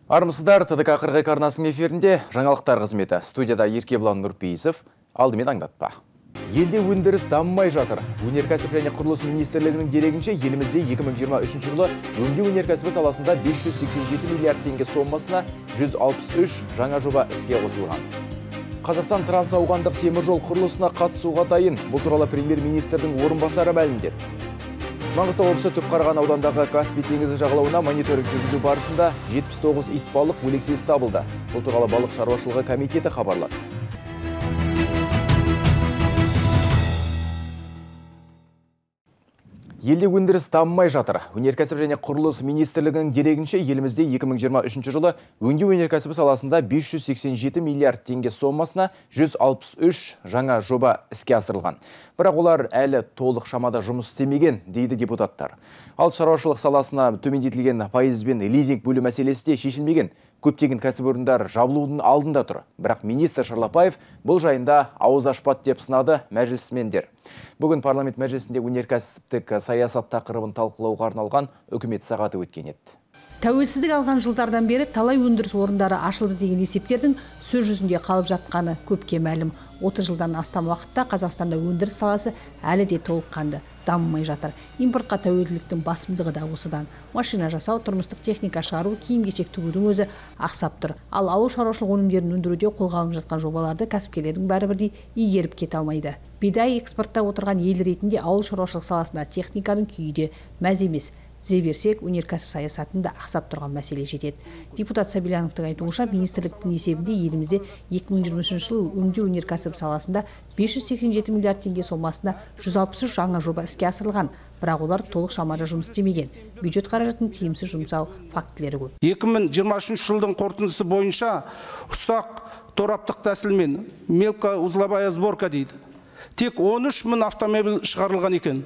Армысыздар, ТДК 42 арнасының эфирінде жаңалықтар қызметі. Студияда Еркебұлан Нұрпейісов, алдымен аңдатпа. Елде өндіріс дамымай жатыр. Өнеркәсіп және құрылыс министрлігінің дерегінше елімізде 2023 жылы өңдеу өнеркәсібі саласында 587 миллиард теңге сомасына 163 жаңа жоба іске қосылған. Қазақстан трансауғандық теміржол құрылысына қатысуға дайын. Бұл туралы премьер-министрдің орынбасары мәлімдеді. Маңғыстау облысы Түпқараған аудандағы Каспий теңізі жағалауына мониторинг жүргізу барысында 79 итбалық өлексесі табылды. Бұл туралы балық шаруашылығы комитеті хабарлады. Елде өндіріс дамымай жатыр. Өнеркәсіп және құрылыс министрлігінің дерегінше елімізде 2023 жылы өңдеу өнеркәсібі саласында 587 миллиард теңге сомасына 163 жаңа жоба іске асырылған. Бірақ олар әлі толық шамада жұмыс істемеген, дейді депутаттар. Ал шаруашылық саласына төмендетілген пайызбен лизинг бөлу мәселесі де шешілмеген. Көптеген кәсіпорындар жабылудың алдында тұр. Бірақ министр Шарлапаев бұл жайында ауыз ашпады деп сынады мәжілісмендер. Бүгін парламент мәжілісінде өнеркәсіптік саясат тақырыбын талқылауға арналған үкімет сағаты өткен еді. Тәуелсіздік алған жылдардан бері талай өндіріс орындары ашылды деген есептердің сөз жүзінде қалып жатқаны көпке мәлім. 30 жылдан астам уақытта Қазақстанда өндіріс саласы әлі де толыққанды дамымай жатыр. Импортқа тәуелділіктің басымдығы да осыдан. Машина жасау, тұрмыстық техника шығару, киім-кешек тігудің өзі ақсап тұр. Ал ауыл шаруашылық өнімдерін өндіруде қолға алынып жатқан жобаларды кәсіпкерлердің бәрі бірдей игеріп кете алмайды. Бидай экспорттап отырған ел ретінде ауыл шаруашылық саласында техниканың күйі де мәз емес. Тізе берсек, өнеркәсіп саясатында ақсап тұрған мәселе жетеді. Депутат Сабильяновтың айтуынша, министрліктің есебінде елімізде 2023 жылы өңдеу өнеркәсіп саласында 587 миллиард теңге сомасына 163 жаңа жоба іске асырылған. Бірақ олар толық шамада жұмыс істемеген. Бюджет қаражатын тиімсіз жұмсау фактілері көп. 2023 жылдың қорытындысы бойынша ұсақ тораптық тәсілмен мелкоузловая сборка дейді. Тек 13 мың автомобиль шығарылған екен.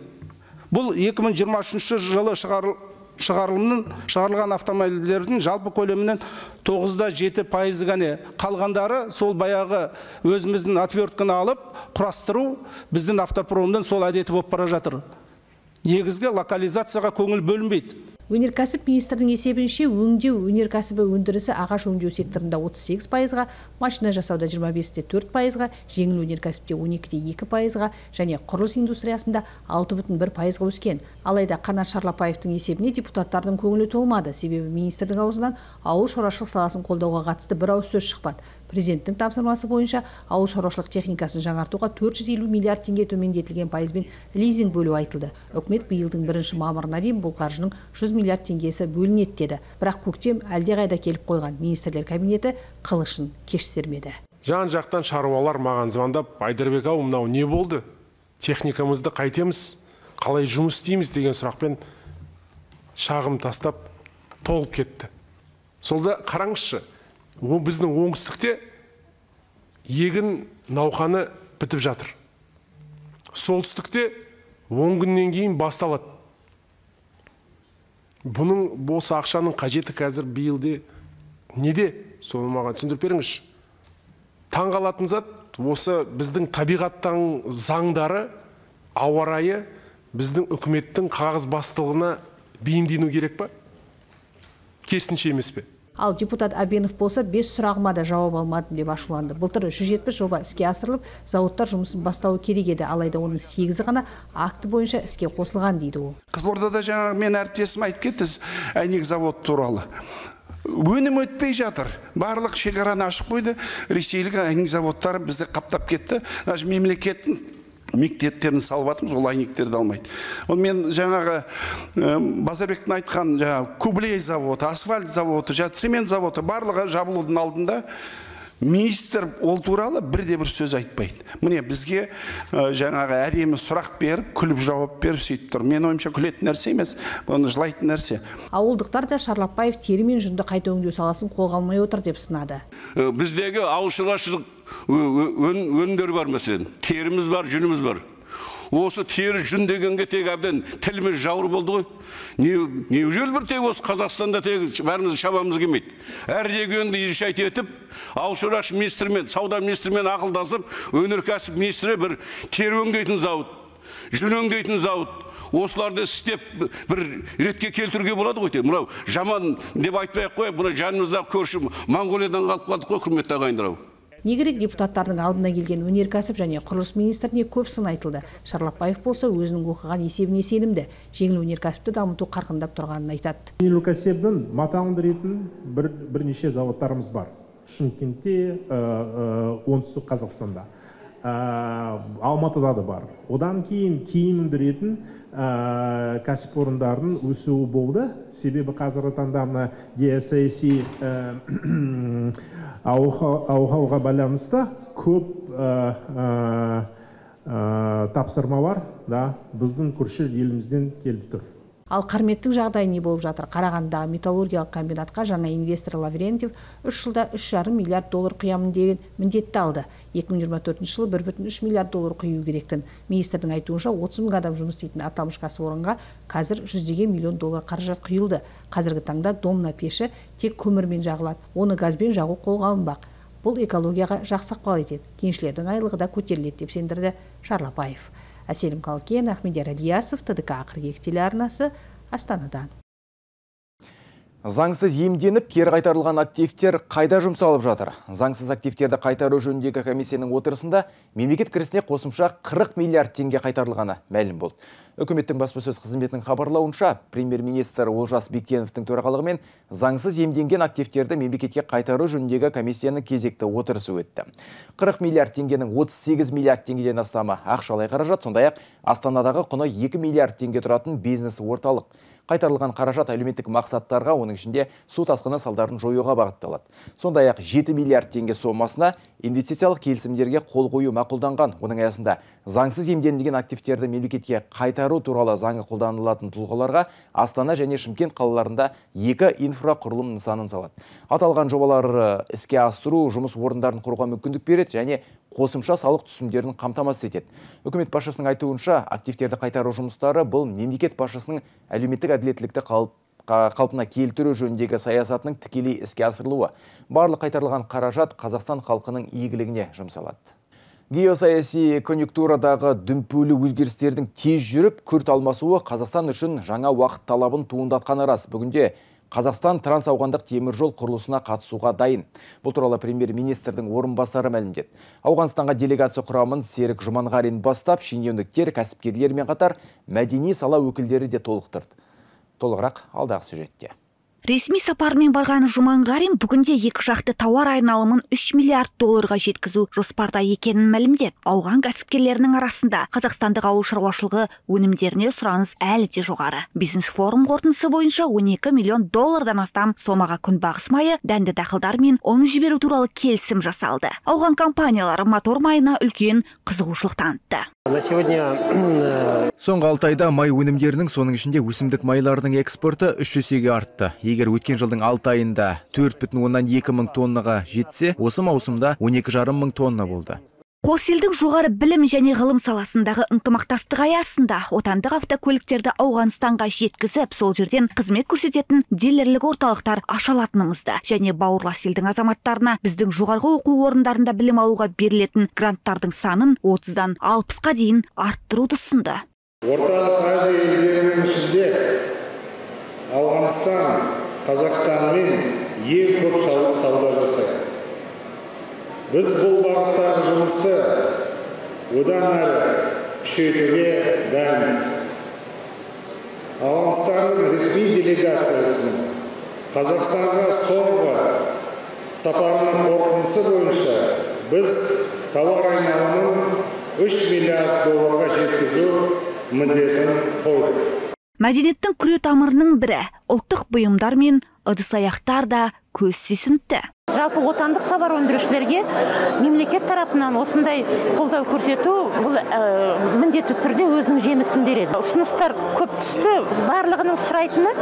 Бұл 2023 жылы шығарылған автомобильдердің жалпы көлемінен 9,7% ғана. Қалғандары сол баяғы өзіміздің отвертканы алып, құрастыру біздің автопромның сол әдеті болып бара жатыр. Негізгі локализацияға көңіл бөлінбейді. Өнеркәсіп министрдің есебінше өңдеу өнеркәсібі өндірісі ағаш өңдеу секторында 38%-ға, машина жасауда 25,4%-ға, жеңіл өнеркәсіпте 12,2%-ға және құрылыс индустриясында 6,1%-ға өскен. Алайда Қанат Шарлапаевтың есебіне депутаттардың көңілі толмады, себебі министрдің аузынан ауыл шаруашылық саласын қолдауға қатысты бір ауыз сөз шықпады. Президенттің тапсырмасы бойынша ауыл шаруашылық техникасын жаңартуға 450 миллиард теңге төмендетілген пайызбен лизинг бөлу айтылды. Үкімет биылдың 1 мамырына дейін бұл қаржының 100 миллиард теңгесі бөлінеді деді. Бірақ көктем әлдеқайда келіп қойған. Министрлер кабинеті қылышын кеш сермеді. Жан-жақтан шаруалар маған звондап, Айдарбек ау, мынау не болды? Техникамызды қайтеміз, қалай жұмыс істейміз деген сұрақпен шағым тастап толып кетті. Солда қараңызшы, біздің оңтүстікте егін науқаны бітіп жатыр. Солтүстікте 10 күннен кейін басталады. Бұның осы ақшаның қажеті қазір биылде неде? Соны маған түсіндіріп беріңізші. Таңғалатын зат осы біздің табиғаттың заңдары, ауа райы біздің үкіметтің қағаз бастылығына бейімдену керек па? Керісінше емес пе? Ал депутат Абенов болса 5 сұрағыма да жауап алмадым деп ашуланды. Былтыр 170 жоба іске асырылып, зауыттар жұмысын бастауы керек еді, алайда оның 8-і ғана акті бойынша іске қосылған дейді ол. Қызылордада жаңа мен әріптесім айтып кетті, әйнек завод туралы. Өнім өтпей жатыр. Барлық шекараны ашып қойды. Ресейлік әйнек заводтары бізді қаптап кетті. Даже мемлекеттің мектептерін салып атымыз, ол әйнектерді алмайды. Ол мен жаңағы Базарбектің айтқан кублей заводы, асфальт заводы, цемент заводы барлығы жабылудың алдында министр ол туралы бірде-бір сөз айтпайды. Міне бізге жаңағы әдемі сұрақ беріп, күліп жауап беріп сөйтіп тұр. Мен ойымша күлетін нәрсе емес, оны жылайтын нәрсе. Ауылдықтар да Шарлапаев тері мен жүнді қайта өңдеу саласын қолға алмай отыр деп сынады. Біздегі ауыл шаруашылық өнімдер бар мәселен. Теріміз бар, жүніміз бар. Осы тері жүн дегенге тек әбден тіліміз жауыр болды ғой. Неужели бір тек осы Қазақстанда тек бәріміз шабамыз келмейді. Әр дегенді ешайт етіп, ауыл шаруашылық министрімен, сауда министрімен ақылдасып, өнеркәсіп министрі бір тері өңдейтін зауыт, жүн өңдейтін зауыт. Осыларды істеп бір ретке келтіруге болады ғой. Мынау жаман деп айтпай-ақ қойып, мына жанымызда көрші Моңғолиядан қалып қалдық қой, құрметті ағайындар. Не керек, депутаттардың алдына келген өнеркәсіп және құрылыс министріне көп сын айтылды. Шарлапаев болса өзінің оқыған есебіне сенімді, жеңіл өнеркәсіпті дамыту қарқындап тұрғанын айтады. Жеңіл өнеркәсіптің матауын беретін бірнеше заводтарымыз бар. Шымкентте, оңтүстік Қазақстанда, Алматыда да бар. Одан кейін киім өндіретін кәсіпорындардың өсуі болды. Себебі қазіргі таңда мына геосаяси ауқауға байланысты көп тапсырмалар біздің көрші елімізден келіп тұр. Ал Қарметтің жағдайы не болып жатыр? Қарағандыдағы металлургиялық комбинатқа жаңа инвестор Лаврентьев 3 жылда $3,5 миллиард құямын деген міндетті алды. 2024 жылы $1,3 миллиард құю керектін. Министрдің айтуынша 30 мың адам жұмыс істейтін аталмыш кәсіпорынға қазір $100 миллион қаражат құйылды. Қазіргі таңда домна пеші тек көмірмен жағылады, оны газбен жағу қолға алынбақ. Бұл экологияға жақсы ықпал етеді. Кеншілердің айлығы да көтеріледі деп сендірді Шарлапаев. Әселім Қалкен, Ахмедияр Алиясов, ТДК қырғек телеарнасы, Астанадан. Заңсыз иемденіп, кері қайтарылған активтер қайда жұмсалып жатыр? Заңсыз активтерді қайтару жөніндегі комиссияның отырысында мемлекет кірісіне қосымша 40 миллиард теңге қайтарылғаны мәлім болды. Үкіметтің баспасөз қызметінің хабарлауынша, премьер-министр Олжас Бектеновтің төрағалығымен заңсыз иемденген активтерді мемлекетке қайтару жөніндегі комиссияның кезекті отырысы өтті. 40 миллиард теңгенің 38 миллиард теңгеден астамы ақшалай қаражат, сондай-ақ Астанадағы құны 2 миллиард теңге тұратын бизнес орталық. Қайтарылған қаражат әлеуметтік мақсаттарға, оның ішінде су тасқыны салдарын жоюға бағытталады. Сондай-ақ 7 миллиард теңге сомасына инвестициялық келісімдерге қол қою мақұлданған. Оның аясында заңсыз иемденілген активтерді мемлекетке қайтару туралы заңы қолданылатын тұлғаларға Астана және Шымкент қалаларында 2 инфрақұрылым нысанын салады. Аталған жобалар іске асыру жұмыс орындарын құруға мүмкіндік береді және қосымша салық түсімдерін қамтамасыз етеді. Үкімет басшысының айтуынша, активтерді қайтару жұмыстары бұл мемлекет басшысының әлеуметтік әділеттілікті қалпына келтіру жөніндегі саясатының тікелей іске асырылуы. Барлық қайтарылған қаражат Қазақстан халқының игілігіне жұмсалады. Геосаяси конъюнктурадағы дүмпулі өзгерістердің тез жүріп, күрт алмасуы Қазақстан үшін жаңа уақыт талабын туындатқаны рас. Бүгінде Қазақстан трансауғандық теміржол құрылысына қатысуға дайын. Бұл туралы премьер-министрдің орынбасары мәлімдеді. Ауғанстанға делегация құрамын Серік Жұманғарин бастап, шенеуніктер, кәсіпкерлермен қатар мәдени сала өкілдері де толықтырды. Толығырақ алдағы сюжетте. Ресми сапармен барған Жұманғарин бүгінде екі жақты тауар айналымын $3 миллиард жеткізу жоспарда екенін мәлімдеді. Ауған кәсіпкерлерінің арасында қазақстандық ауыл шаруашылығы өнімдеріне сұраныс әлі де жоғары. Бизнес форум қорытындысы бойынша $12 миллион астам сомаға күнбағыс майы, дәнді дақылдар мен ұн жіберу туралы келісім жасалды. Ауған компаниялары мотор майына үлкен қызығушылық танытты. Соңғы 6 айда май өнімдерінің, соның ішінде өсімдік майларының экспорты 3 есеге артты. Егер өткен жылдың 6 айында 4,2 мың тоннаға жетсе, осы маусымда 12,5 мың тонна болды. Қос елдің жоғары білім және ғылым саласындағы ынтымақтастық аясында отандық автокөліктерді Ауғанстанға жеткізіп, сол жерден қызмет көрсететін дилерлік орталықтар ашалатынымызды және бауырлас елдің азаматтарына біздің жоғарғы оқу орындарында білім алуға берілетін гранттардың санын 30-дан 60-қа дейін арттыруды ұсынды. Орталық Азия елдерінің ішінде Ауғанстан Қазақстанмен ең көп сауда жасайды. Біз бұл бағыттағы жұмысты одан әрі күшейтуге дайынбыз. Ауғанстанның ресми делегациясының Қазақстанға соңғы сапарының қорытындысы бойынша біз тауар айналымын $3 миллиард жеткізу міндетін қойдық. Мәдениеттің күре тамырының бірі ұлттық бұйымдар мен ыдыс-аяқтар да көз сүйсінтті. Жалпы отандық товар өндірушілерге мемлекет тарапынан осындай қолдау көрсету бұл міндетті түрде өзінің жемісін береді. Ұсыныстар көп түсті. Барлығының сұрайтыны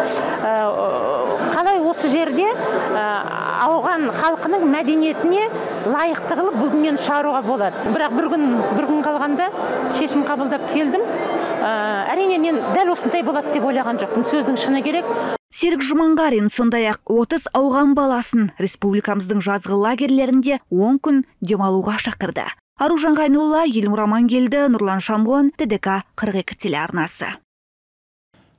қалай осы жерде ауған халқының мәдениетіне лайықты қылып бұл дүниені шығаруға болады. Бірақ бір күн қалғанда шешім қабылдап келдім. Әрине мен дәл осындай болады деп ойлаған жоқпын. Сөздің шыны керек. Серік Жұманғарин сондай-ақ 30 ауған баласын республикамыздың жазғы лагерлерінде 10 күн демалуға шақырды. Аружан Қайнулла, Елнур Амангелді, Нұрлан Шамғон, ТДК 42 телеарнасы.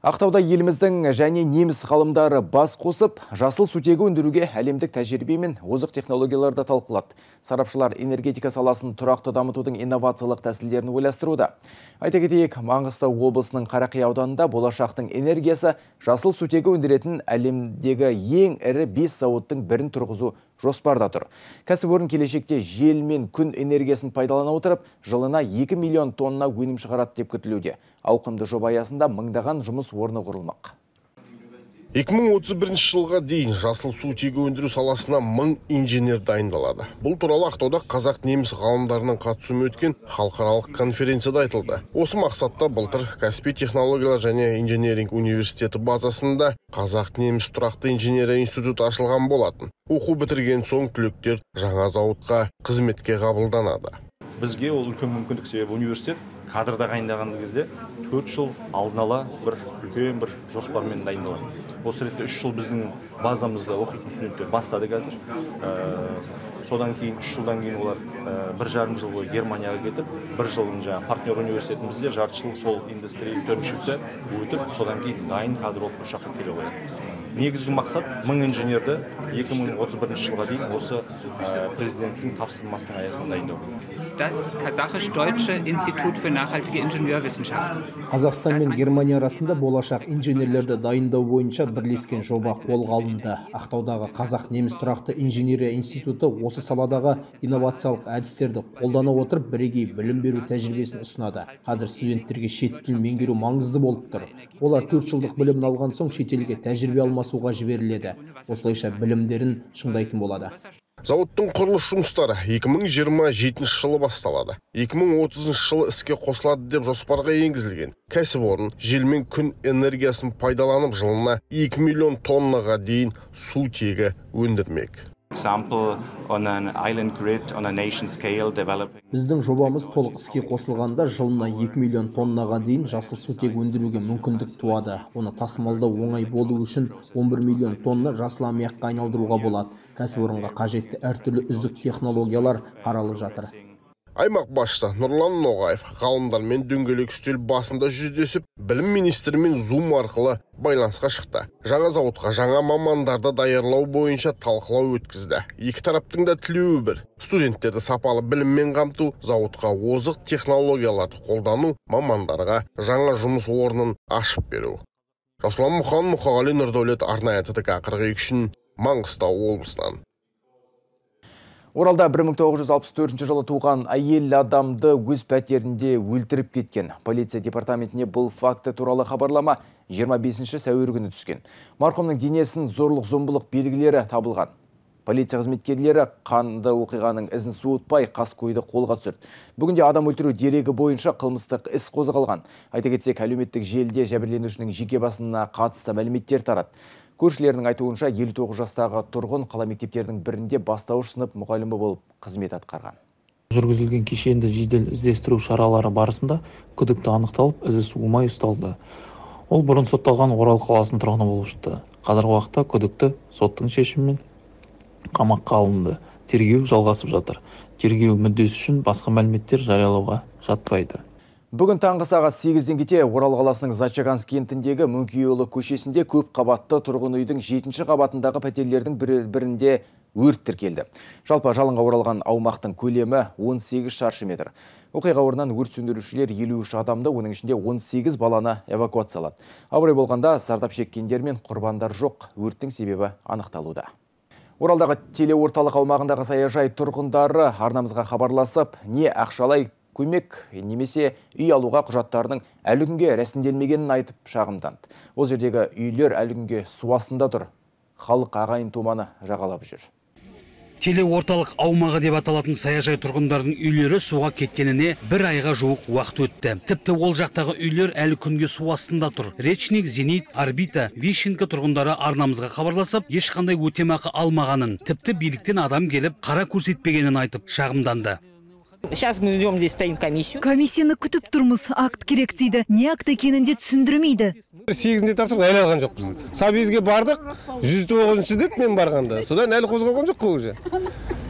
Ақтауда еліміздің және неміс ғалымдары бас қосып, жасыл сутегі өндіруге әлемдік тәжірибе мен озық технологияларды талқылады. Сарапшылар энергетика саласын тұрақты дамытудың инновациялық тәсілдерін ойластыруда. Айта кетейік, Маңғыстау облысының Қарақия ауданында болашақтың энергиясы жасыл сутегі өндіретін әлемдегі ең ірі 5 зауыттың бірін тұрғызу жоспарда тұр. Кәсіпорын келешекте жел мен күн энергиясын пайдалана отырып, жылына 2 миллион тонна өнім шығарады деп күтілуде. Ауқымды жоба аясында мыңдаған жұмыс орны құрылмақ. 2031 жылға дейін жасыл сутегі өндіру саласына 1000 инженер дайындалады. Бұл туралы Ақтауда қазақ-неміс ғалымдарының қатысуымен өткен халықаралық конференцияда айтылды. Осы мақсатта былтыр Каспий технологиялар және инженеринг университеті базасында қазақ-неміс тұрақты инженерия институты ашылған болатын. Оқу бітірген соң түлектер жаңа зауытқа қызметке қабылданады. Бізге ол үлкен мүмкіндік, себебі университет кадрда дайындаған кезде 4 жыл алдын ала бір үлкен бір жоспармен дайындалады. Осы ретте 3 жыл біздің базамызда оқитын студенттер бастады қазір. Содан кейін 3 жылдан кейін олар 1,5 жыл бойы Германияға кетіп, 1 жылын жаңа партнер университетімізде жарты жыл сол индустрия төртіншілікті өтіп, содан кейін дайын кадр болып ұшаққа келе қояды. Негізгі мақсат 1000 инженерді 2031 жылға дейін осы президенттің тапсырмасының аясында дайындау. Das Kasachisch-Deutsche Institut für nachhaltige Ingenieurwissenschaften. Қазақстан мен Германия арасында болашақ инженерлерді дайындау бойынша бірлескен жоба қолға алынды. Ақтаудағы қазақ-неміс тұрақты инженерия институты осы саладағы инновациялық әдістерді қолдана отырып бірегей білім беру тәжірибесін ұсынады. Қазір студенттерге шет тілін меңгеру маңызды болып тұр. Олар 4 жылдық білімін алған соң шетелге тәжірибе алмасуға жіберіледі. Осылайша білімдерін шыңдайтын болады. Зауыттың құрылыс жұмыстары 2027 жылы басталады. 2030 жылы іске қосылады деп жоспарға енгізілген. Кәсіпорын жел мен күн энергиясын пайдаланып жылына 2 миллион тоннаға дейін сутегі өндірмек. Біздің жобамыз толық іске қосылғанда жылына 2 миллион тоннаға дейін жасыл сутек өндіруге мүмкіндік туады. Оны тасымалдау оңай болу үшін 11 миллион тонна жасыл аммиакқа айналдыруға болады. Кәсіпорынға қажетті әртүрлі үздік технологиялар қаралып жатыр. Аймақ басшысы Нұрлан Ноғаев ғалымдармен дөңгелек үстел басында жүздесіп, білім министрімен Zoom арқылы байланысқа шықты. Жаңа зауытқа жаңа мамандарды даярлау бойынша талқылау өткізді. Екі тараптың да тілеуі бір. Студенттерді сапалы біліммен қамту, зауытқа озық технологияларды қолдану, мамандарға жаңа жұмыс орнын ашып беру. Жасұлан Мұқан, Мұқағали Нұрдәулет, арнайы ТДК 42 үшін Маңғыстау облысынан. Оралда 1964 жылы туған әйел адамды өз пәтерінде өлтіріп кеткен. Полиция департаментіне бұл факты туралы хабарлама 25 сәуір күні түскен. Марқұмның денесін зорлық-зомбылық белгілері табылған. Полиция қызметкерлері қанды оқиғаның ізін суытпай қаскөйді қолға түсірді. Бүгінде адам өлтіру дерегі бойынша қылмыстық іс қозғалған. Айта кетсек, әлеуметтік желіде жәбірленушінің жеке басына қатысты мәліметтер тарады. Көршілерінің айтуынша 59 жастағы тұрғын қала мектептерінің бірінде бастауыш сынып мұғалімі болып қызмет атқарған. Жүргізілген кешенді жедел іздестіру шаралары барысында күдікті анықталып, ізі суымай ұсталды. Ол бұрын сотталған Орал қаласының тұрғыны болып шықты. Қазіргі уақытта күдікті соттың шешімімен қамаққа алынды. Тергеу жалғасып жатыр. Тергеу мүддесі үшін басқа мәліметтер жариялауға жатпайды. Бүгін таңғы сағат 8-ден кете Орал қаласының Зачаганск кентіндегі Мөңкейұлы көшесінде көп қабатты тұрғын үйдің 7-ші қабатындағы пәтерлердің бірінде өрт тіркелді. Жалпы жалынға оралған аумақтың көлемі 18 шаршы метр. Оқиға орнынан өрт сөндірушілер 53 адамды, оның ішінде 18 баланы эвакуациялады. Абырой болғанда зардап шеккендер мен құрбандар жоқ, өрттің себебі анықталуда. Оралдағы телеорталық аумағындағы саяжай тұрғындары арнамызға хабарласып, не ақшалай көмек немесе үй алуға құжаттарының әлі күнге рәсімделмегенін айтып шағымданды. Ол жердегі үйлер әлі күнге су астында тұр. Халық ағайын туманы жағалап жүр. Телеорталық аумағы деп аталатын саяжай тұрғындардың үйлері суға кеткеніне 1 айға жуық уақыт өтті. Тіпті ол жақтағы үйлер әлі күнге су астында тұр. Речник, Зенит, Орбита, Вишенка тұрғындары арнамызға хабарласып, ешқандай өтемақы алмағанын, тіпті биліктен адам келіп қара көрсетпегенін айтып шағымданды. Сейчас мы ждем, здесь стоим комиссию. Комиссияны күтіп тұрмыз, акт керек дейді. Не акт екенінде түсіндірмейді. 8-де таптық, әлі алған жоқпыз. Сабизге бардық, 109-ші деді мен барғанда. Содан әлі қозғалған жоқ қой уже.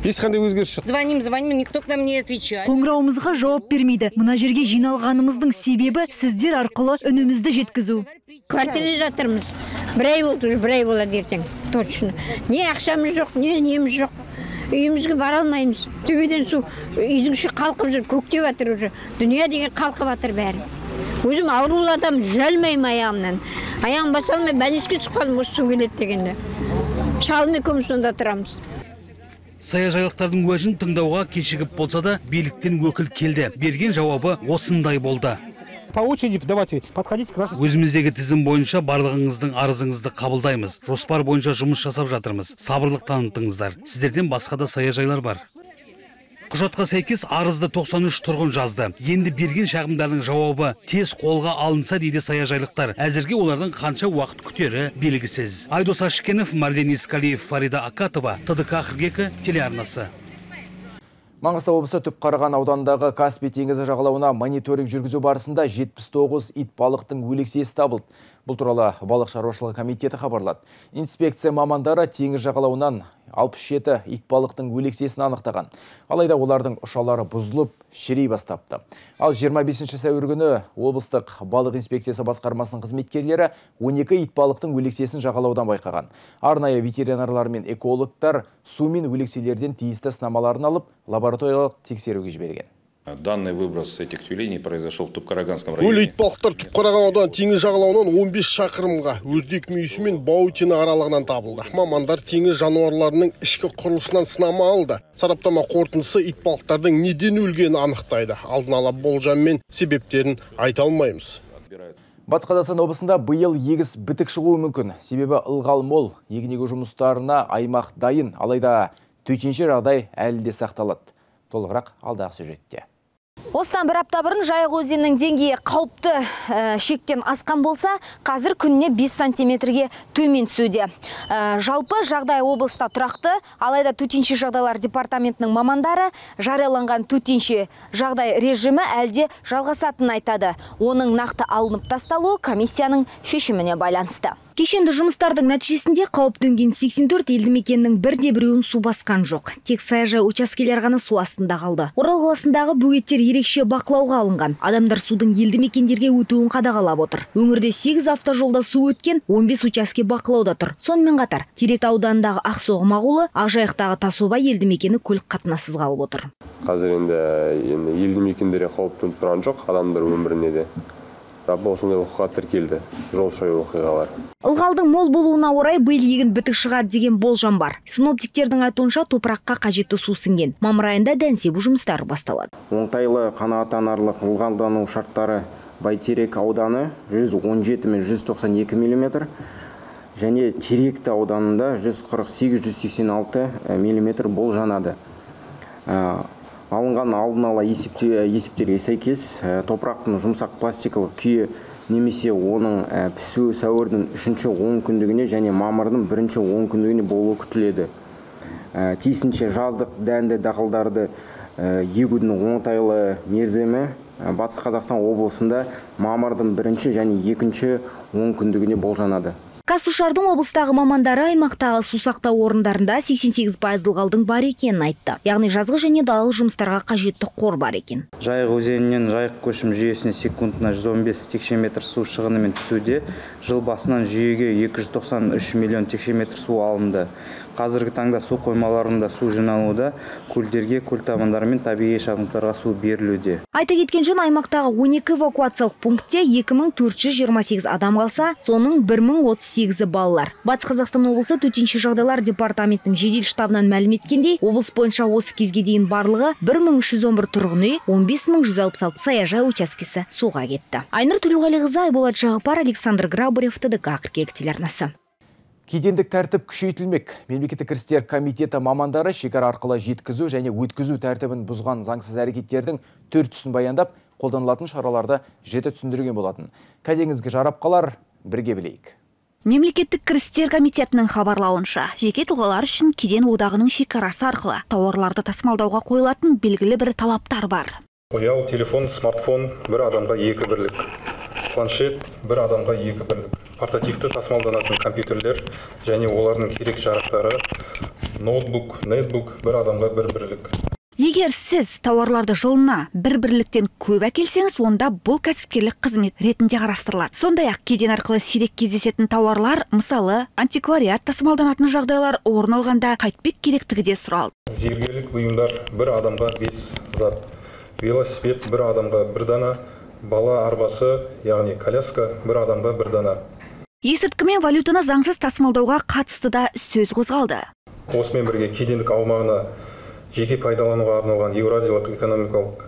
ешқандай өзгеріс жоқ. Звоним, никто к нам не отвечает. Қоңырауымызға жауап бермейді. Мына жерге жиналғанымыздың себебі сіздер арқылы үнімізді жеткізу. Квартирада жатырмыз. Бір ай болды, бір ай болады ертең. Точно. Не ақшамыз жоқ, не неміз жоқ. Үйімізге бара алмаймыз. Төбеден су үйдің іші қалқып жүр, көктеп жатыр уже. Дүние деген қалқып жатыр бәрі. Өзім аурулы адам, жүзілмеймін аяғымнан. Аяғым баса алмай, бәлеске түсіп қалдым осы су келеді дегенде. Шалым екеуміз сонда тұрамыз. Саяжайлықтардың уәжін тыңдауға кешігіп болса да, биліктен өкіл келді. Берген жауабы осындай болды. По очереди давайте подходите к нашему. Өзіміздегі тізім бойынша барлығыңыздың арызыңызды қабылдаймыз. Жоспар бойынша жұмыс жасап жатырмыз. Сабырлық танытыңыздар. Сіздерден басқа да саяжайлар бар. Құжатқа сәйкес арызды 93 тұрғын жазды. Енді берген шағымдардың жауабы тез қолға алынса дейді саяжайлықтар. Әзірге олардың қанша уақыт күтері белгісіз. Айдос Ашкенов, Марлен Искалиев, Фарида Акатова, ТДК 42 телеарнасы. Маңғыстау облысы Түпқараған ауданындағы Каспий теңізі жағалауына мониторинг жүргізу барысында 79 ит балықтың өлексесі табылды. Бұл туралы балық шаруашылығы комитеті хабарлады. Инспекция мамандары теңіз жағалауынан 67 ит балықтың өлексесін анықтаған. Алайда олардың ұшалары бұзылып, шірей бастапты. Ал 25 сәуір күні облыстық балық инспекциясы басқармасының қызметкерлері 12 ит балықтың өлексесін жағалаудан байқаған. Арнайы ветеринарлар мен экологтар су мен өлекселерден тиісті сынамаларын алып, лабораториялық тексеруге жіберген. Данный выброс этих тюленей произошел в Түпқараганском районе. Өлі итбалықтар Түпқараған аудан теңіз жағалауынан 15 шақырымға өрдек мүйісі мен Баутина аралығынан табылды. Мамандар теңіз жануарларының ішкі құрылысынан сынама алды. Сараптама қорытындысы итбалықтардың неден өлгенін анықтайды. Алдын ала болжам мен себептерін айта алмаймыз. Батыс Қазақстан облысында биыл егіс бітік шығуы мүмкін. Себебі ылғал мол, егінегі жұмыстарына аймақ дайын, алайда төтенше жағдай әлі де сақталады. Толығырақ алдағы сюжетте. Осыдан бір апта бұрын Жайық өзенінің деңгейі қауіпті шектен асқан болса, қазір күніне 5 сантиметрге төмен түсуде. Жалпы жағдай облыста тұрақты, алайда төтенше жағдайлар департаментінің мамандары жарияланған төтенше жағдай режимі әлде жалғасатынын айтады. Оның нақты алынып тасталуы комиссияның шешіміне байланысты. Кешенді жұмыстардың нәтижесінде қауіп төнген 84 елді мекеннің бірде-біреуін су басқан жоқ. Тек саяжай учаскелер ғана су астында қалды. Орал қаласындағы бөгеттер ерекше бақылауға алынған. Адамдар судың елді мекендерге өтуін қадағалап отыр. Өңірде 8 автожолда су өткен, 15 учаске бақылауда тұр. Сонымен қатар, Терек ауданындағы Ақсоғым ауылы, Ақжайықтағы Тасоба елді мекені көлік қатынассыз қалып отыр. Қазір енді елді мекендерге қауіп төніп тұрған жоқ, адамдар өміріне де. Осындай оқиға тіркелді, жол шаю оқиғалар. Ылғалдың мол болуына орай биыл егін бітік шығады деген болжам бар. Синоптиктердің айтуынша топыраққа қажетті су сіңген. Мамыр айында дән себу жұмыстары басталады. Оңтайлы қанағаттанарлық ылғалдану шарттары Бәйтерек ауданы 117 мен 192 мм және Теректі ауданында 148-186 мм болжанады. Алынған алдын ала есептерге сәйкес топырақтың жұмсақ пластикалық күйі немесе оның пісу сәуірдің 3-ші 10 күндігіне және мамырдың 1-ші 10 күндігіне болуы күтіледі. Тиісінше жаздық дәнді дақылдарды егудің оңтайлы мерзімі Батыс Қазақстан облысында мамырдың 1-ші және 2-ші 10 күндігіне болжанады. Қазсушардың облыстағы мамандары аймақтағы су сақтау орындарында 88% ылғалдың бар екенін айтты. Яғни жазғы және далалық жұмыстарға қажетті қор бар екен. Жайық өзенінен Жайық көшім жүйесіне секундына 115 текшеметр су шығынымен түсуде. Жыл басынан жүйеге 293 миллион текшеметр су алынды. Қазіргі таңда су қоймаларында су жиналуда, көлдерге, көл табандары мен табиғи шабындықтарға су берілуде. Айта кеткен жөн аймақтағы 12 эвакуациялық пунктте 2428 адам қалса, соның 1038-і балалар. Батыс Қазақстан облысы төтенше жағдайлар департаментінің жедел штабынан мәлім еткендей, облыс бойынша осы кезге дейін барлығы 1311 тұрғын үй, 15166 саяжай учаскесі суға кетті. Айнұр Төлеуғалиқызы, Айболат Жағыпар, Александр Грабарев, ТДК 42 телеарнасы. Кедендік тәртіп күшейтілмек. Мемлекеттік кірістер комитеті мамандары шекара арқылы жеткізу және өткізу тәртібін бұзған заңсыз әрекеттердің 4 түсін баяндап, қолданылатын шараларды жете түсіндірген болатын. Кәдеңізге жарап қалар, бірге білейік. Мемлекеттік кірістер комитетінің хабарлауынша, жеке тұлғалар үшін кеден одағының шекарасы арқылы тауарларды тасымалдауға қойылатын белгілі бір талаптар бар. Ұялы телефон, смартфон бір адамға 2 бірлік. Планшет бір адамға 2 бірлік. Портативті тасымалданатын компьютерлер және олардың керек жарақтары ноутбук, нетбук бір адамға бір бірлік. Егер сіз тауарларды жылына бір бірліктен көп әкелсеңіз, онда бұл кәсіпкерлік қызмет ретінде қарастырылады. Сондай-ақ кеден арқылы сирек кездесетін тауарлар, мысалы, антиквариат тасымалданатын жағдайлар орын алғанда қайтпек керектігі де сұралды. Зергерлік бұйымдар бір адамға 5 зат, велосипед бір адамға 1 дана, бала арбасы, яғни коляска бір адамға 1 дана. Есірткі мен валютаны заңсыз тасымалдауға қатысты да сөз қозғалды. Осымен бірге кедендік аумағына жеке пайдалануға арналған Еуразиялық экономикалық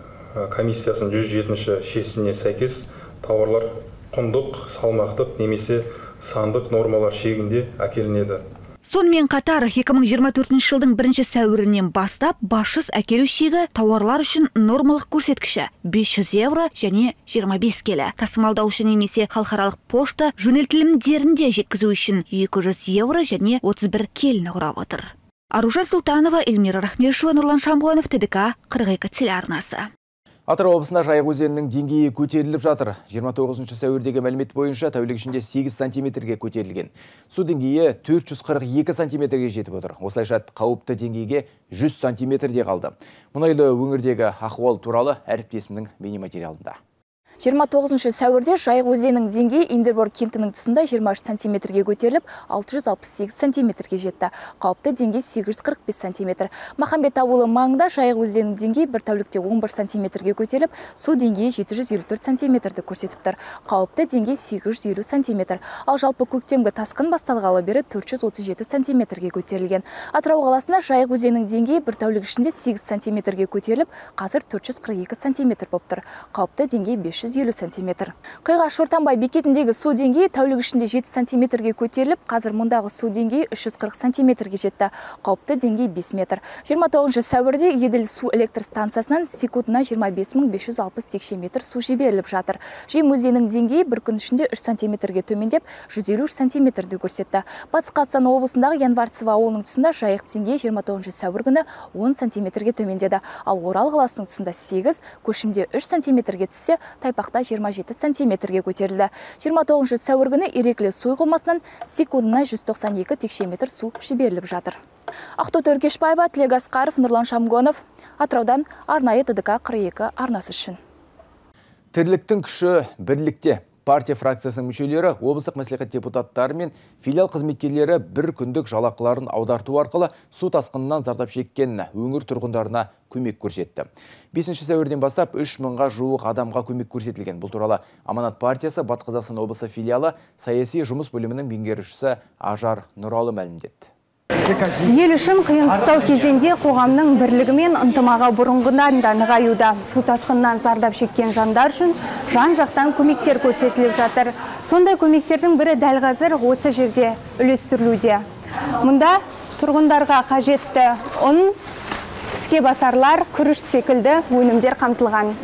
комиссиясының 107-ші шешіміне сәйкес тауарлар құндық, салмақтық немесе сандық нормалар шегінде әкелінеді. Сонымен қатар 2024 жылдың 1 сәуірінен бастап басшыс әкелу шегі тауарлар үшін нормалық көрсеткіші 500 евро және 25 келі. Тасымалдаушы немесе халықаралық пошта жөнелтілімдерінде жеткізу үшін 200 евро және 31 келіні құрап отыр. Аружан Султанова, Эльмира Рахмешева, Нұрлан Шамғанов, ТДК 42 телеарнасы. Атырау облысында Жайық өзенінің деңгейі көтеріліп жатыр. 29 сәуірдегі мәлімет бойынша тәулік ішінде 8 сантиметрге көтерілген. Су деңгейі 442 сантиметрге жетіп отыр. Осылайша қауіпті деңгейге 100 сантиметрде қалды. Мұнайлы өңірдегі ахуал туралы әріптесімнің бейнематериалында. 29 сәуірде Жайық өзенінің деңгейі Индербор кентінің тұсында 23 сантиметрге көтеріліп, 668 сантиметрге жетті. Қауіпті деңгей 845 сантиметр. Махамбет ауылы маңында Жайық өзенінің деңгейі бір тәулікте 11 сантиметрге көтеріліп, су деңгейі 754 сантиметрді көрсетіп тұр. Қауіпті деңгей 850 сантиметр. Ал жалпы көктемгі тасқын басталғалы бері 437 сантиметрге көтерілген. Атырау қаласында Жайық өзенінің деңгейі бір тәулік ішінде 8 сантиметрге көтеріліп, қазір 442 сантиметр болып тұр. Қауіпті деңгей 550 сантиметр. Қиғаш Шортанбай бекетіндегі су деңгейі тәулік ішінде 7 сантиметрге көтеріліп, қазір мұндағы су деңгейі 340 сантиметрге жетті. Қауіпті деңгей 5 метр. 29 сәуірде Еділ су электр станциясынан секундына 25.560 текше метр су жіберіліп жатыр. Жем өзенінің деңгейі бір күн ішінде 3 сантиметрге төмендеп, 153 сантиметрді көрсетті. Батыс Қазақстан облысындағы Январцево ауылының тұсында Жайық деңгейі 29 сәуір күні 10 сантиметрге төмендеді. Ал Орал қаласының тұсында 8, Көшімде 3 сантиметрге түссе, Тайпақта 27 сантиметрге көтерілді. 29 сәуір күні Иреклі су қоймасынан секундына 192 текше метр су жіберіліп жатыр. Ақтоты Өркешбаева, Тілек Асқаров, Нұрлан Шамғанов, Атыраудан арнайы ТДК 42 арнасы үшін. Тірліктің күші бірлікте. Партия фракциясының мүшелері, облыстық мәслихат депутаттары мен филиал қызметкерлері бір күндік жалақыларын аударту арқылы су тасқынынан зардап шеккен өңір тұрғындарына көмек көрсетті. 5 сәуірден бастап 3000-ға жуық адамға көмек көрсетілген. Бұл туралы Аманат партиясы Батыс Қазақстан облысы филиалы саяси жұмыс бөлімінің меңгерушісі Ажар Нұралы мәлімдеді. Ел үшін қиын-қыстау кезеңде қоғамның бірлігі мен ынтымағы бұрынғыдан да нығаюда. Су тасқынынан зардап шеккен жандар үшін жан-жақтан көмектер көрсетіліп жатыр. Сондай көмектердің бірі дәл қазір осы жерде үлестірілуде. Мұнда тұрғындарға қажетті ұн, іске басарлар, күріш секілді өнімдер қамтылған.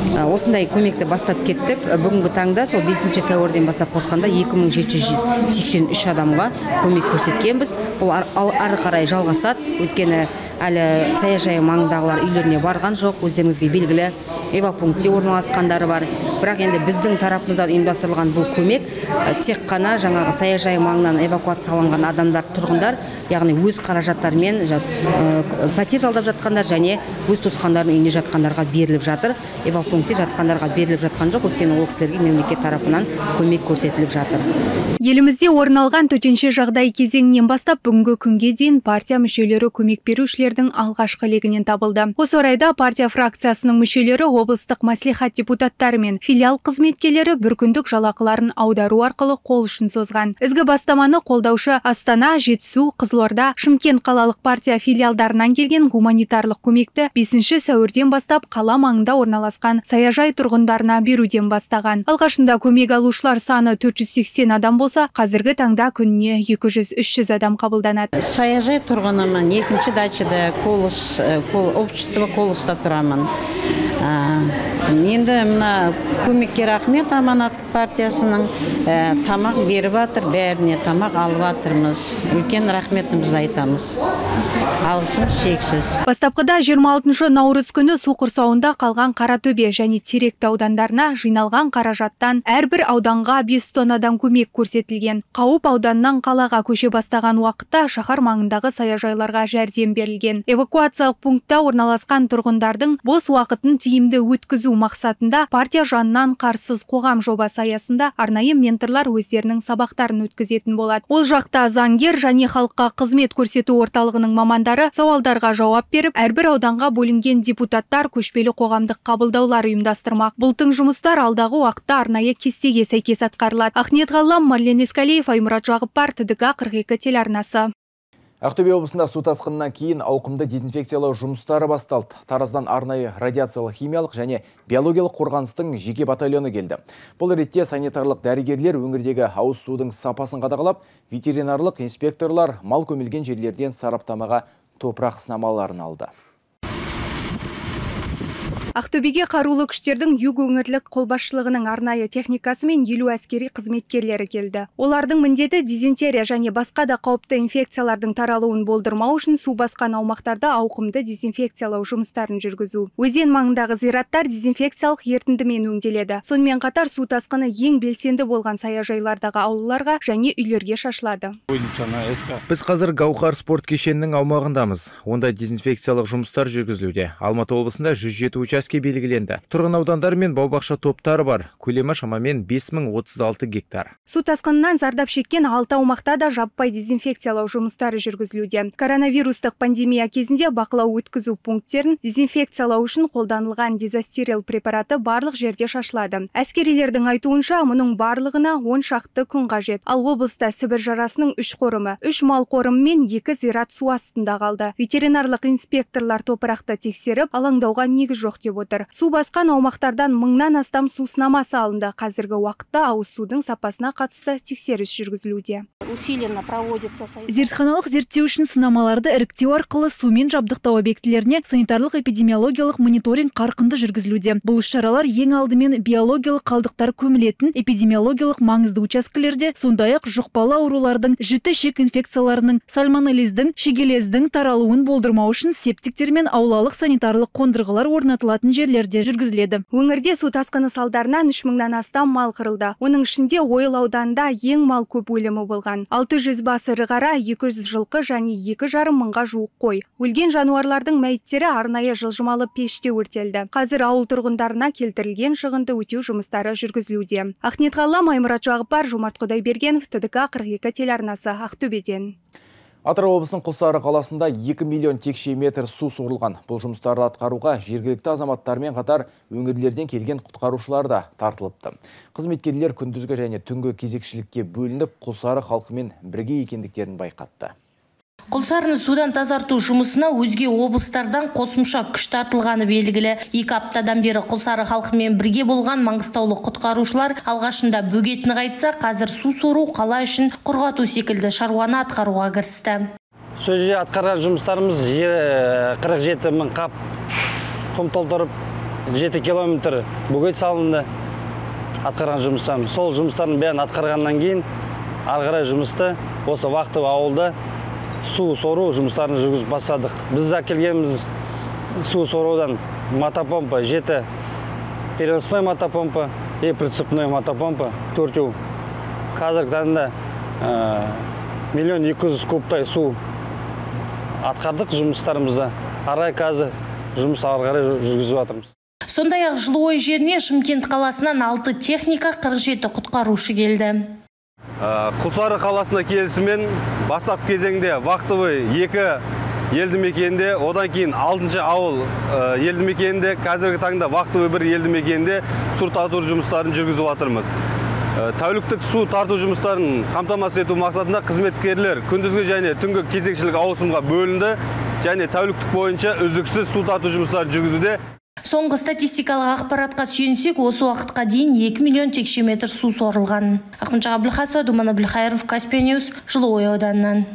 Осындай көмекті бастап кеттік. Бүгінгі таңда сол 5 сәуірден бастап қосқанда 2783 адамға көмек көрсеткенбіз. Бұл ары қарай жалғасады. Өйткені әлі саяжай маңындағылар үйлеріне барған жоқ. Өздеріңізге белгілі эвакопунктте орналасқандары бар. Бірақ енді біздің тарапымыздан ұйымдастырылған бұл көмек тек қана жаңағы саяжай маңынан эвакуацияланған адамдар, тұрғындар, яғни өз қаражаттарымен пәтер жалдап жатқандар және өз туысқандарының үйінде жатқандарға беріліп жатыр. Эвакопунктте жатқандарға беріліп жатқан жоқ, өйткені ол кісілерге мемлекет тарапынан көмек көрсетіліп жатыр. Елімізде орын алған төтенше жағдай кезеңінен бастап бүгінгі күнге дейін партия мүшелері көмек берушілердің алғашқы легінен табылды. Осы орайда партия фракциясының мүшелері облыстық мәслихат депутаттары мен филиал қызметкерлері бір күндік жалақыларын аудару арқылы қол ұшын созған. Ізгі бастаманы қолдаушы Астана, Жетісу, Қызылорда, Шымкент қалалық партия филиалдарынан келген гуманитарлық көмекті 5 сәуірден бастап қала маңында орналасқан саяжай тұрғындарына беруден бастаған. Алғашында көмек алушылар саны 480 адам болса, қазіргі таңда күніне 200-300 адам қабылданады. Саяжай тұрғынымын, екінші дачада общество Колоста тұрамын. Енді мына көмекке рахмет Аманат партиясының тамақ беріп жатыр, бәріне тамақ алып жатырмыз. Үлкен рахметімізді айтамыз. Алғысымыз шексіз. Бастапқыда 26 наурыз күні су құрсауында қалған Қаратөбе және Теректі аудандарына жиналған қаражаттан әрбір ауданға 5 тоннадан көмек көрсетілген. Қауіп ауданнан қалаға көше бастаған уақытта шаһар маңындағы саяжайларға жәрдем берілген. Эвакуациялық пунктта орналасқан тұрғындардың бос уақытын тиімді өткізу мақсатында партия жанынан қарсыз қоғам жобасы аясында арнайы менторлар өздерінің сабақтарын өткізетін болады. Ол жақта заңгер және халыққа қызмет көрсету орталығының мамандары сауалдарға жауап беріп, әрбір ауданға бөлінген депутаттар көшпелі қоғамдық қабылдаулар ұйымдастырмақ. Бұл тың жұмыстар алдағы уақытта арнайы кестеге сәйкес атқарылады. Ахнет Ғаллам, Марлен Ескалиев, Аймұрат Жағыппар, ТДК 42 телеарнасы. Ақтөбе облысында су тасқынынан кейін ауқымды дезинфекциялау жұмыстары басталды. Тараздан арнайы радиациялық, химиялық және биологиялық қорғаныстың жеке батальоны келді. Бұл ретте санитарлық дәрігерлер өңірдегі ауыз судың сапасын қадағалап, ветеринарлық инспекторлар мал көмілген жерлерден сараптамаға топырақ сынамаларын алды. Ақтөбеге қарулы күштердің юг өңірлік қолбасшылығының арнайы техникасы мен 50 әскери қызметкерлері келді. Олардың міндеті дизентерия және басқа да қауіпті инфекциялардың таралуын болдырмау үшін су басқан аумақтарда ауқымды дезинфекциялау жұмыстарын жүргізу. Өзен маңындағы зираттар дезинфекциялық ертіндімен өңделеді. Сонымен қатар су тасқыны ең белсенді болған саяжайлардағы аулаларға және үйлерге шашылады. Біз қазір Гаухар спорт кешенінің аумағындамыз. Онда дезинфекциялық жұмыстар жүргізілуде. Алматы облысында 107 учаске белгіленді. Тұрғын аудандар мен бау-бақша топтары бар. Көлемі шамамен 5036 гектар. Су тасқынынан зардап шеккен 6 аумақта да жаппай дезинфекциялау жұмыстары жүргізілуде. Коронавирустық пандемия кезінде бақылау өткізу пункттерін дезинфекциялау үшін қолданылған дезостерил препараты барлық жерде шашылады. Әскерилердің айтуынша, мұның барлығына 10 шақты күн қажет. Ал облыста Сібір жарасының 3 қорымы, 3 мал қорымы мен 2 зират су астында қалды. Ветеринарлық инспекторлар топырақты тексеріп, алаңдауға негіз жоқ деп отыр. Су басқан аумақтардан 1000-нан астам су сынамасы алынды. Қазіргі уақытта ауыз судың сапасына қатысты тексеріс жүргізілуде. Зертханалық зерттеу үшін сынамаларды іріктеу арқылы сумен жабдықтау объектілеріне санитарлық эпидемиологиялық мониторинг қарқынды жүргізілуде. Бұл шаралар ең алдымен биологиялық қалдықтар көмілетін эпидемиологиялық маңызды учаскелерде, сондай-ақ жұқпалы аурулардың, жіті ішек инфекцияларының, сальмонеллездің, шегелездің таралуын болдырмау үшін септиктер мен аулалық санитарлық қондырғылар орнатылатын жерлерде жүргізіледі. Өңірде су тасқыны салдарынан 3000-нан астам мал қырылды. Оның ішінде Ойыл ауданында ең мал көп өлімі болған. 600 бас ірі қара, 200 жылқы және 2,5 мыңға жуық қой. Өлген жануарлардың мәйіттері арнайы жылжымалы пеште өртелді. Қазір ауыл тұрғындарына келтірілген шығынды өтеу жұмыстары жүргізілуде. Ахнет Ғаллам, Аймұрат Жағыппар, Жомарт Құдайбергенов, ТДК 42 телеарнасы, Ақтөбеден. Атырау облысының Құлсары қаласында 2 миллион текше метр су сорылған. Бұл жұмыстарды атқаруға жергілікті азаматтармен қатар өңірлерден келген құтқарушылар да тартылыпты. Қызметкерлер күндізгі және түнгі кезекшілікке бөлініп, Құлсары халқымен бірге екендіктерін байқатты. Құлсарыны судан тазарту жұмысына өзге облыстардан қосымша күш тартылғаны белгілі. 2 аптадан бері Құлсары халқымен бірге болған маңғыстаулық құтқарушылар алғашында бөгетін қайтса, қазір су сору, қала үшін құрғату секілді шаруаны атқаруға кірісті. Сол жерде атқарған жұмыстарымыз 47 мың қап құм толтырып, 7 километр бөгет салынды. Атқарған жұмыстарымыз. Сол жұмыстарын бәрін атқарғаннан кейін ары қарай жұмысты осы вақты ауылда су сору жұмыстарын жүргізіп бастадық. Біз әкелгеніміз су сорудан мотопомпа 7, переносной мотопомпа и прицепной мотопомпа 4. Қазіргі таңда 1 200 000 кубтай су атқардық жұмыстарымызда. Арай қазір жұмыс ары қарай жүргізіп жатырмыз. Сондай-ақ Жылыой жеріне Шымкент қаласынан 6 техника, 47 құтқарушы келді. Құлсары қаласына келісімен бастап кезеңде вақтовый 2 елді мекенде, одан кейін 6-шы ауыл елді мекенде, қазіргі таңда вақтовый 1 елді мекенде су тарту жұмыстарын жүргізіп жатырмыз. Тәуліктік су тарту жұмыстарын қамтамасыз ету мақсатында қызметкерлер күндізгі және түнгі кезекшілік ауысымға бөлінді және тәуліктік бойынша үздіксіз су тарту жұмыстарын жүргізуде. Соңғы статистикалық ақпаратқа сүйенсек, осы уақытқа дейін 2 миллион текше метр су сорылған. Ақмынша Абылхасова, Думан Абылхайыров, Каспия Ньюс, Жылыой ауданынан.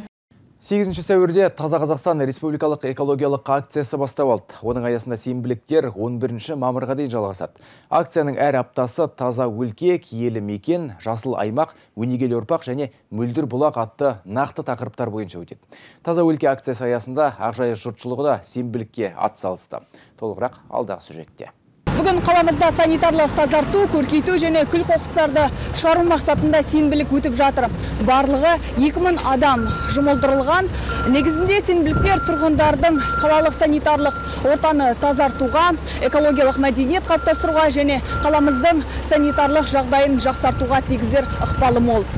8 сәуірде Таза Қазақстан республикалық экологиялық акциясы бастап алды. Оның аясында сенбіліктер 11 мамырға дейін жалғасады. Акцияның әр аптасы таза өлке, киелі мекен, жасыл аймақ, өнегелі ұрпақ және мөлдір бұлақ атты нақты тақырыптар бойынша өтеді. Таза өлке акциясы аясында Ақжайық жұртшылығы да сенбілікке атсалысты. Толығырақ алдағы сюжетте. Бүгін қаламызда санитарлық тазарту, көркейту және күл қоқыстарды шығару мақсатында сенбілік өтіп жатыр. Барлығы 2000 адам жұмылдырылған. Негізінде сенбіліктер тұрғындардың қалалық санитарлық ортаны тазартуға, экологиялық мәдениет қалыптастыруға және қаламыздың санитарлық жағдайын жақсартуға тигізер ықпалы мол.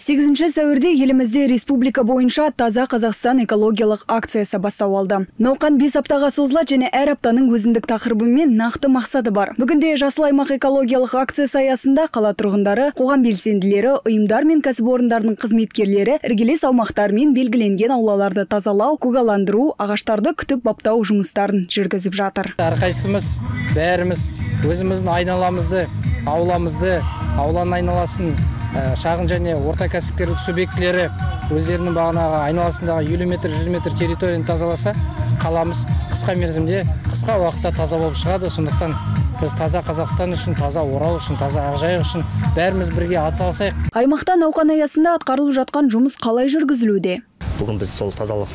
8 сәуірде елімізде республика бойынша Таза Қазақстан экологиялық акциясы бастау алды. Науқан 5 аптаға созылады және әр аптаның өзіндік тақырыбы мен нақты мақсаты бар. Бүгінде жасыл аймақ экологиялық акциясы аясында қала тұрғындары, қоғам белсенділері, ұйымдар мен кәсіпорындардың қызметкерлері іргелес аумақтармен белгіленген аулаларды тазалау, көгаландыру, ағаштарды күтіп баптау жұмыстарын жүргізіп жатыр. Әрқайсымыз, бәріміз өзіміздің айналамызды, ауламызды, ауланың айналасын шағын және орта кәсіпкерлік субъектілері өздерінің бағанағы айналасындағы 50 метр, 100 метр территорияны тазаласа, қаламыз қысқа мерзімде, қысқа уақытта таза болып шығады. Сондықтан біз таза Қазақстан үшін, таза Орал үшін, таза Ақжайық үшін бәріміз бірге атсалысайық. Аймақта науқан аясында атқарылып жатқан жұмыс қалай жүргізілуде? Бүгін біз сол тазалық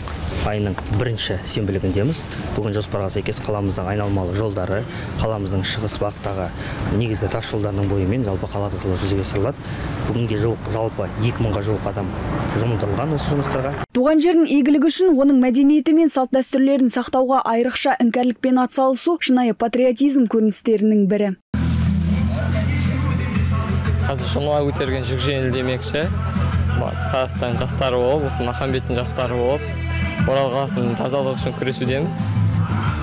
айының бірінші сенбілігіндеміз. Бүгін жоспарға сәйкес қаламыздың айналмалы жолдары, қаламыздың шығыс бағыттағы негізгі тас жолдарының бойымен жалпы қала тазалығы жүзеге асырылады. Бүгінге жалпы 2000-ға жуық адам жұмылдырылған осы жұмыстарға. Туған жердің игілігі үшін оның мәдениеті мен салт дәстүрлерін сақтауға айрықша іңкәрлікпен атсалысу шынайы патриотизм көріністерінің бірі. Қазір жұмыла өтерген жүк жеңіл демекші. Қазақстан жастары болып, осы Махамбеттің жастары болып, Орал қаласының тазалық үшін күресудеміз.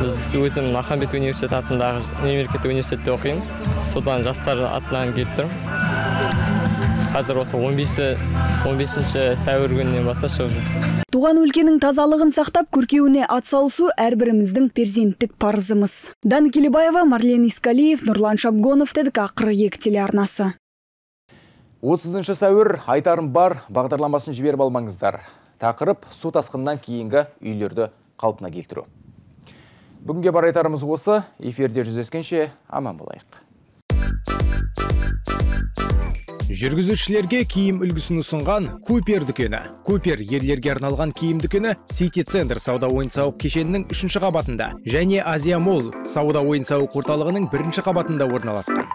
Біз өзім Махамбет университеті атындағы мемлекеттік университетте оқимын. Содан жастар атынан келіп тұрмын. Қазір осы 15 сәуір күнінен бастап шығып. Туған өлкенің тазалығын сақтап, көркеуіне атсалысу әрбіріміздің перзенттік парызымыз. Дана Келебаева, Марлен Искалиев, Нұрлан Шабгонов, ТДК 42 телеарнасы. 30 сәуір айтарым бар бағдарламасын жіберіп алмаңыздар. Тақырып су тасқыннан кейінгі үйлерді қалпына келтіру. Бүгінге бар айтарымыз осы. Эфирде жүздескенше аман болайық. Жүргізушілерге киім үлгісін ұсынған Купер дүкені. Купер ерлерге арналған киім дүкені Сити Центр сауда ойын-сауық кешенінің 3-ші қабатында және Азия Молл сауда ойын-сауық орталығының 1-ші қабатында орналасқан.